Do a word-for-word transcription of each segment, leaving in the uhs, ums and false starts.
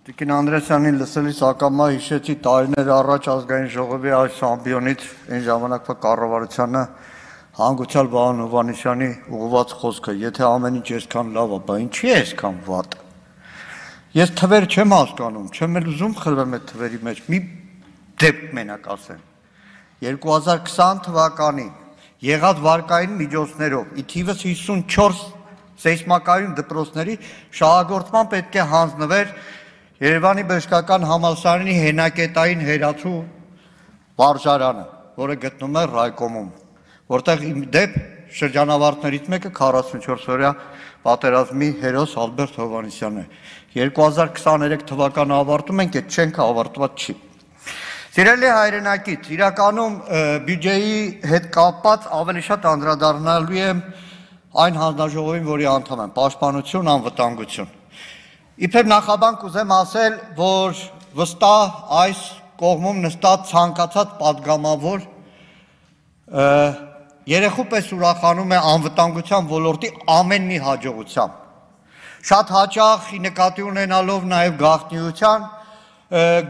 Տիկին Անդրեսյանին լսելիս ակամա հիշեցի տարիներ առաջ ազգային ժողովի այս ամբիոնից այն ժամանակվա կառավարությանը հանգուցյալ Վահան Հովհաննիսյանի ուղղված խոսքը, եթե ամեն ինչ այսքան լավ է, բա ինչի է այսքան վատ։ Ես թվեր չեմ հասկանում, չեմ էլ ուզում խլվեմ այդ թվերի մեջ, մի դեպք մենակ ասեմ։ երկու հազար քսան թվականին եղած վարկային միջոցներով ի թիվս հիսունչորս սեյսմակայուն դպրոցների շահագործման պետք է հանձնվեր Երևանի բժշկական համալսարանի հենակետային հերացու վարժարանը, որը գտնվում է Ռայկոմում, որտեղ իմ դեպ շրջանավարտներից մեկը քառասունչորս օրյա պատերազմի հերոս Ալբերտ Հովհաննիսյանն է։ երկու հազար քսաներեք թվականը ավարտում ենք, այդ չենք ավարտված չի։ Սիրելի հայրենակից, իրականում բյուջեի հետ կապված ավելի շատ անդրադառնալու եմ այն հանձնաժողովին, որի անդամ եմ, պաշտպանություն, անվտանգություն։ Իբր նախաբան կուզեմ ասել, որ վստահ այս կողմում նստած ցանկացած պատգամավոր երեխու պես ուրախանում է անվտանգության ոլորտի ամեն մի հաջողությամբ։ Շատ հաճախ նկատի ունենալով նաև գաղտնիության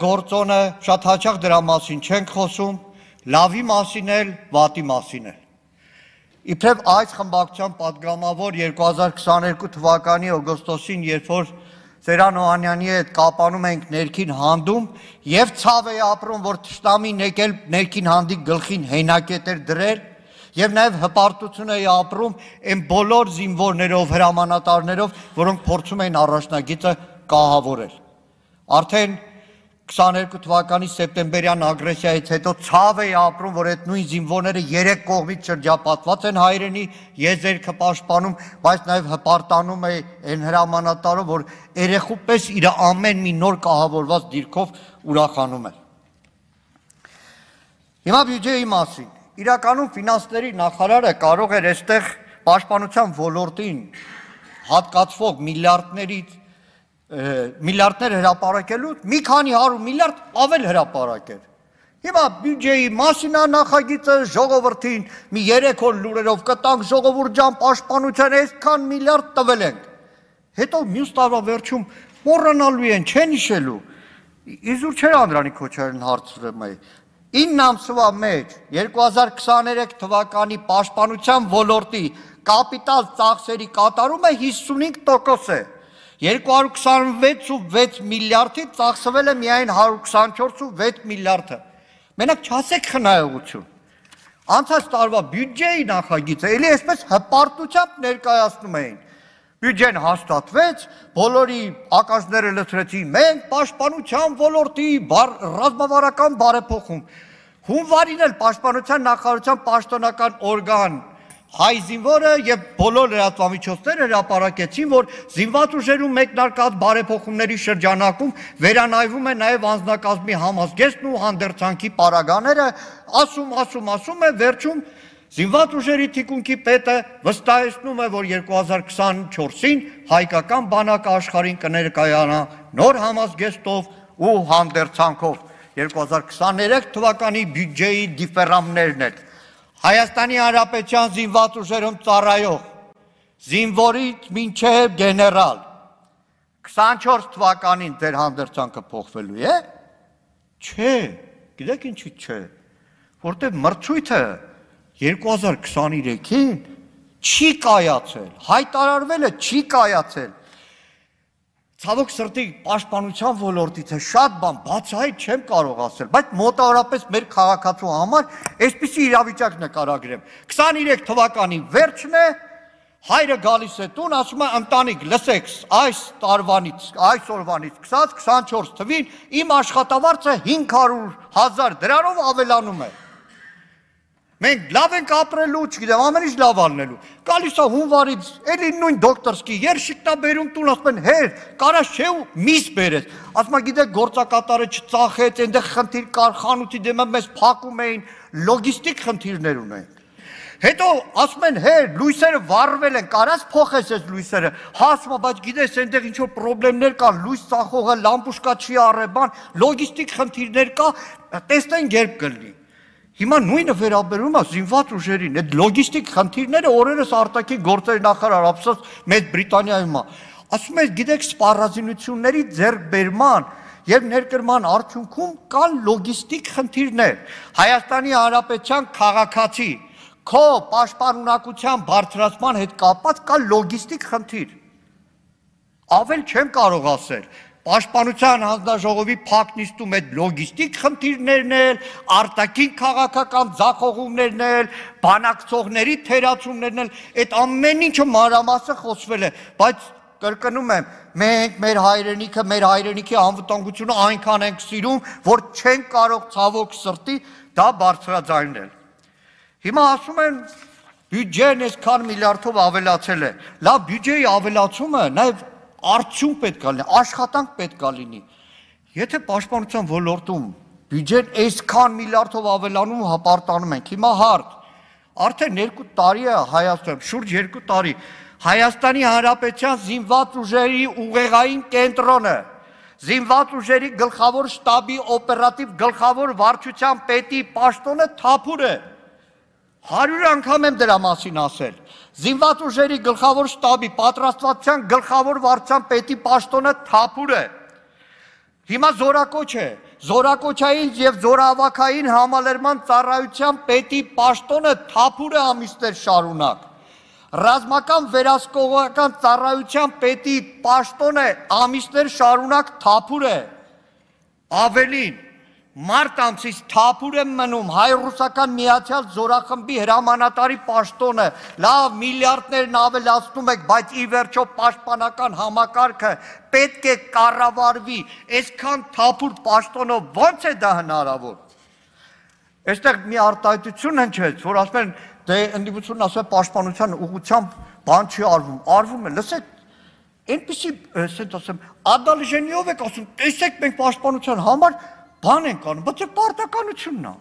գործոնը, շատ հաճախ դրա մասին չենք խոսում, լավի մասին էլ, վատի մասին էլ։ Իբրև այս խմբակցության պատգամավոր երկու հազար քսաներկու թվականի օգոստոսին, երբ որ Սերան Օհանյանի հետ կապանում ենք ներքին հանդում եւ ցավ է ապրում, որ թշնամին եկել ներքին հանդի գլխին հենակետեր դրել եւ նաեւ հպարտություն է ապրում այն բոլոր զինվորներով, հրամանատարներով, որոնք փորձում էին առաջնագիծը կահավորել։ Արդեն քսաներկու թվականի սեպտեմբերյան ագրեսիայից հետո ցավ է ապրում, որ այդ նույն զինվորները երեք կողմից շրջապատված են հայրենի եզերքը պաշտպանում, բայց նաև հպարտանում է այն հրամանատարը, որ երեխու պես իր ամեն մի նոր կահավորված դիրքով ուրախանում է։ Հիմա բյուջեի մասին։ Իրականում ֆինանսների նախարարը կարող էր այստեղ պաշտպանության ոլորտին հատկացվող միլիարդներից միլիարդներ հրապարակելու մի քանի հարյուր միլիարդ ավել հրապարակել։ Հիմա բյուջեի մասին նախագիծը ժողովրդին մի երեք օր լուրերով կտանք ժողովուրդ ջան պաշտպանության այսքան միլիարդ տվել ենք։ Հետո մյուս տարվա վերջում մոռանալու են, չեն հիշելու։ Իզուր չէր Անդրանիկ Քոչարյանին հարցրում է։ ինը ամսվա մեջ երկու հազար քսաներեք թվականի պաշտպանության ոլորտի կապիտալ ծախսերի կատարումը հիսունհինգ տոկոս է։ երկու հարյուր քսանվեց միլիարդի ծախսվել է միայն հարյուր քսանչորս միլիարդը։ Մենակ չասեք խնայողություն։ Անցած տարվա բյուջեի նախագիծը էլի այսպես հպարտությամբ ներկայացնում էին։ Բյուջեն հաստատվեց, բոլորի ակաշները լցրեցի մենք պաշտպանության ոլորտի ռազմավարական բարեփոխում։ Հունվարին էլ պաշտպանության նախարարության պաշտոնական օրգան հայ զինվորը եւ բոլոր լրատվամիջոցները հրապարակեցին, որ զինված ուժերում մեկնարկած բարեփոխումների շրջանակում վերանայվում է նաեւ անձնակազմի համազգեստն ու հանդերձանքի պարագաները, ասում, ասում, ասում է, վերջում զինված ուժերի թիկունքի պետը վստահեցնում է, որ երկու հազար քսանչորսին հայկական բանակը աշխարհին կներկայանա նոր համազգեստով ու հանդերձանքով։ երկու հազար քսաներեք թվականի բյուջեի դիֆերամներն են։ Հայաստանի Հանրապետության զինված ուժերում ծառայող զինվորից մինչև գեներալ քսանչորս թվականին ձեր հանդերձանքը փոխվելու է։ Չէ, գիտեք ինչի՞ չէ, որտեղ մրցույթը երկու հազար քսաներեքին չի կայացել, հայտարարվել է չի կայացել։ Ցավոք սրտի պաշտպանության ոլորտից է շատ բան բացահայտ չեմ կարող ասել, բայց մոտավորապես մեր քաղաքացու համար այսպիսի իրավիճակ նկարագրեմ։ քսաներեք թվականի վերջն է, հայրը գալիս է տուն, ասում է ընտանիք, լսեք, այս տարվանից, այս օրվանից սկսած քսանչորս թվին իմ աշխատավարձը հինգ հարյուր հազար դրամով ավելանում է։ Մենք լավ ենք ապրելու, չգիտեմ, ամեն ինչ լավ ալնելու։ Գալիս է հունվարից, էլի նույն դոկտորսկի երշիկն է բերում տուն, ասում են, հեր, կարաս չէ ու միս բերես։ Ասում է, գիտեք, գործակատարը չծախեց, այնտեղ խնդիր կար, խանութի դեմը մեզ փակում էին, լոգիստիկ խնդիրներ ունենք։ Հետո ասում են, հեր, լույսերը վառվել են, կարաս փոխես այս լույսերը։ Հասում է, բայց գիտես, այնտեղ ինչ որ խնդիրներ կան, լույս ծախողը լամպուշկա չի առեբան, լոգիստիկ խնդիրներ կա, տեսնենք երբ կլինի։ Հիմա նույնը վերաբերում է զինված ուժերին, այդ լոգիստիկ խնդիրները օրերս արտաքին գործերի նախարար ապսած Մեծ Բրիտանիայում է։ ասում է, գիտեք, սպառազինությունների ձեռքբերման եւ ներկրման արդյունքում կան լոգիստիկ խնդիրներ։ Հայաստանի Հանրապետության քաղաքացի քո պաշտպանունակության բարձրացման հետ կապված կա լոգիստիկ խնդիր։ Ավել չեմ կարող ասել։ Պաշտպանության հանձնաժողովի փակ նիստում այդ լոգիստիկ խնդիրներն էլ, արտաքին քաղաքական ձախողումներն էլ, բանակցողների թերացումներն էլ, այդ ամեն ինչը մանրամասն խոսվել է, բայց կրկնում եմ, մենք մեր հայրենիքը, մեր հայրենիքի անվտանգությունը այնքան ենք սիրում, որ չենք կարող ցավոք սրտի դա բարձրաձայնել։ Հիմա ասում են բյուջեն այսքան միլիարդով ավելացել է։ Լավ, բյուջեի ավելացումը նաև արդյունք պետք է լինի, աշխատանք պետք է լինի։ Եթե պաշտպանության ոլորտում բյուջեն այսքան միլիարդով ավելանում հպարտանում ենք, հիմա հարթ, արդեն երկու տարի է Հայաստանում, շուրջ երկու տարի, Հայաստանի Հանրապետության զինված ուժերի ուղեղային կենտրոնը, զինված ուժերի գլխավոր շտաբի օպերատիվ գլխավոր վարչության պետի պաշտոնը թափուր է։ Հարյուր անգամ եմ դրա մասին ասել։ Զինված ուժերի գլխավոր շտաբի պատրաստվածության գլխավոր վարչության պետի պաշտոնը թափուր է։ Հիմա զորակոչ է, զորակոչային եւ զորահավաքային համալրման ծառայության պետի պաշտոնը թափուր է ամիսներ շարունակ։ Ռազմական վերահսկողական ծառայության պետի պաշտոնը ամիսներ շարունակ թափուր է։ Ավելին, մարտ ամսից թափուր է մնում հայ-ռուսական միացյալ զորախմբի հրամանատարի պաշտոնը, լավ միլիարդներն ավելացնում եք, բայց ի վերջո պաշտպանական համակարգը պետք է կառավարվի, այսքան թափուր պաշտոնով ո՞նց է դա հնարավոր։ Այստեղ մի արտահայտություն հնչեց, որ ասում են, դե ընդդիմությունն ասում է պաշտպանության ուղղությամբ բան չի արվում, արվում է, լսեք, այնպիսի, ասենք ասեմ, ադալժենիով եք ասում, տեսեք մենք պաշտպանության համար բան ենք անում, բայց է պարտականությունն է։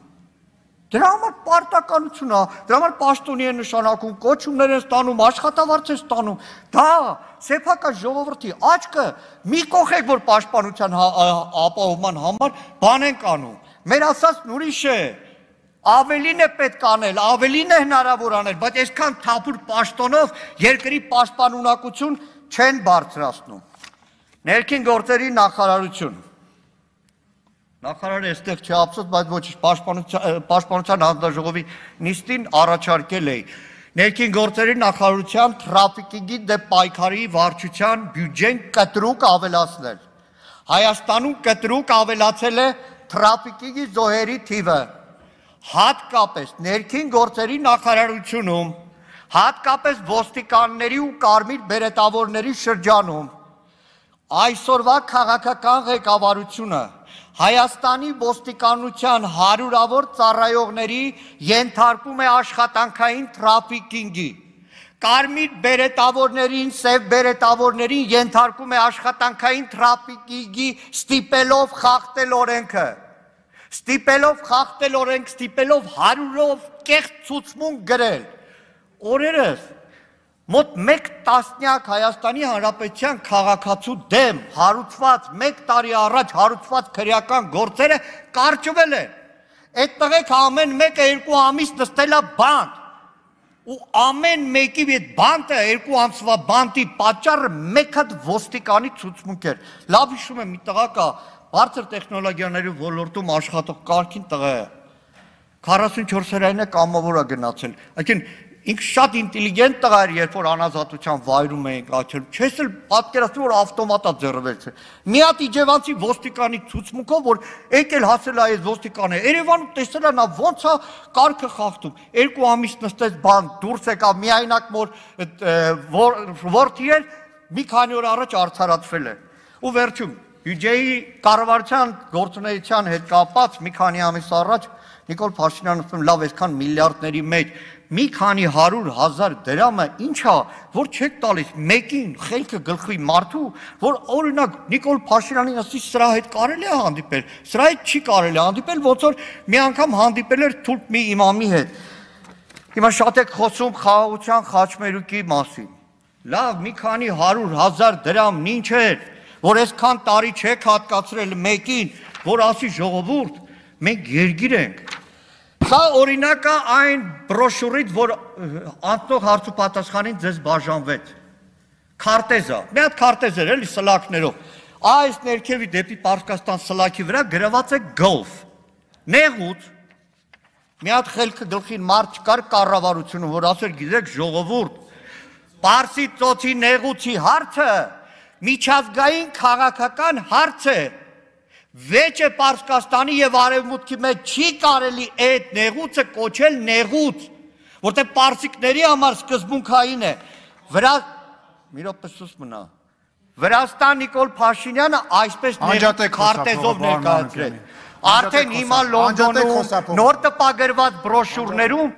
Դրա համար պարտականություն է, դրա համար պաշտոնի է նշանակում, կոչումներ են ստանում, աշխատավարձ է ստանում։ Դա սեփական ժողովրդի աչքը մի կողեք, որ պաշտպանության ապահովման համար բան ենք անում։ Մեր ասածն ուրիշ է։ Ավելին է պետք անել, ավելին է հնարավոր անել, բայց այսքան թափուր պաշտոնով երկրի պաշտպանունակություն չեն բարձրացնում։ Ներքին գործերի նախարարություն։ Նախարարը այստեղ չի ափսոս, բայց ոչ պաշտպանության հանձնաժողովի նիստին առաջարկել էի։ Ներքին գործերի նախարարության թրաֆիկինգի դեմ պայքարի վարչության բյուջեն կտրուկ ավելացնել։ Հայաստանում կտրուկ ավելացել է թրաֆիկինգի զոհերի թիվը։ Հատկապես ներքին գործերի նախարարությունում, հատկապես ոստիկանների ու կարմիր բերետավորների շրջանում, այսօրվա քաղաքական ղեկավարությունը Հայաստանի ոստիկանության հարյուրավոր ծառայողների ենթարկում է աշխատանքային թրաֆիկինգի, կարմիր բերետավորներին, սև բերետավորներին ենթարկում է աշխատանքային թրաֆիկինգի ստիպելով խախտել օրենքը։ Ստիպելով խախտել օրենք, ստիպելով հարյուրով կեղծ ցուցմունք գրել։ Օրերս մոտ մեկ տասնյակ Հայաստանի Հանրապետության քաղաքացու դեմ հարուցված մեկ տարի առաջ հարուցված քրեական գործերը կարճվել են։ Այդ տղեկ ամեն մեկը երկու ամիս նստել է բանտ։ Ու ամեն մեկի այդ բանտը երկու ամսվա բանտի պատճառը մեկ հատ ոստիկանի ցուցմունք էր։ Լավ հիշում եմ մի տղա կա բարձր տեխնոլոգիաների ոլորտում աշխատող կարգին տղա է։ քառասունչորսերային է կամավոր է գնացել։ Այսինքն ինքը շատ ինտելիգենտ տղա էր, երբ որ անազատության վայրում էինք աչել, չես էլ պատկերացնում, որ ավտոմատա ձեռվեց։ Մի հատ իջևանցի ոստիկանի ցուցմունքով, որ եկել հասել է այս ոստիկանը, Երևանում տեսել է նա ոնց է կարգը խախտում։ Երկու ամիս նստեց բան, դուրս եկավ միայնակ որ որդի էր, մի քանի օր առաջ արդարացվել է։ Ու վերջում բյուջեի կառավարության գործունեության հետ կապված մի քանի ամիս առաջ Նիկոլ Փաշինյանը ասում լավ այսքան միլիարդների մեջ մի քանի հարյուր հազար դրամը ինչա, որ չեք տալիս մեկին խելքը գլխի մարդու, որ օրինակ Նիկոլ Փաշինյանին ասի սրա հետ կարելի է հանդիպել, սրա հետ չի կարելի հանդիպել, ոնց որ մի անգամ հանդիպել էր թուրք մի իմամի հետ։ Հիմա շատ եք խոսում խաղաղության խաչմերուկի մասին։ Լավ, մի քանի հարյուր հազար դրամն ինչ էր, որ այսքան տարի չեք հատկացրել մեկին, որ ասի ժողովուրդ, մենք երգիր ենք։ Սա օրինակ է այն բրոշուրից, որ անցնող հարց ու պատասխանին ձեզ բաժանվեց։ քարտեզա, մի հատ քարտեզ էր էլի սլակներով։ Այս ներքևի դեպի Պարսկաստան սլաքի վրա գրված է Gulf։ Նեղուց մի հատ խելքը գլխին մարդ չկար կառավարությունը, որ ասեր, գիտեք, ժողովուրդ, Պարսի ծոցի նեղուցի հարցը միջազգային քաղաքական հարց է։ Վեճ է Պարսկաստանի եւ Արևմուտքի մեջ չի կարելի այդ նեղուցը կոչել նեղուց, որտեղ պարսիկների համար սկզբունքային է։ Վրա մի րոպե սուս մնա։ Վրաստան Նիկոլ Փաշինյանը այսպես նեղուց քարտեզով ներկայացրել։ Արդեն հիմա Լոնդոնում նոր տպագրված բրոշյուրներում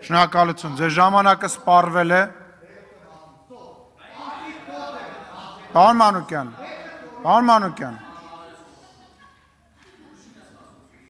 Շնորհակալություն, ձեր ժամանակը սպառվել է։ Պարոն Մանուկյան, պարոն Մանուկյան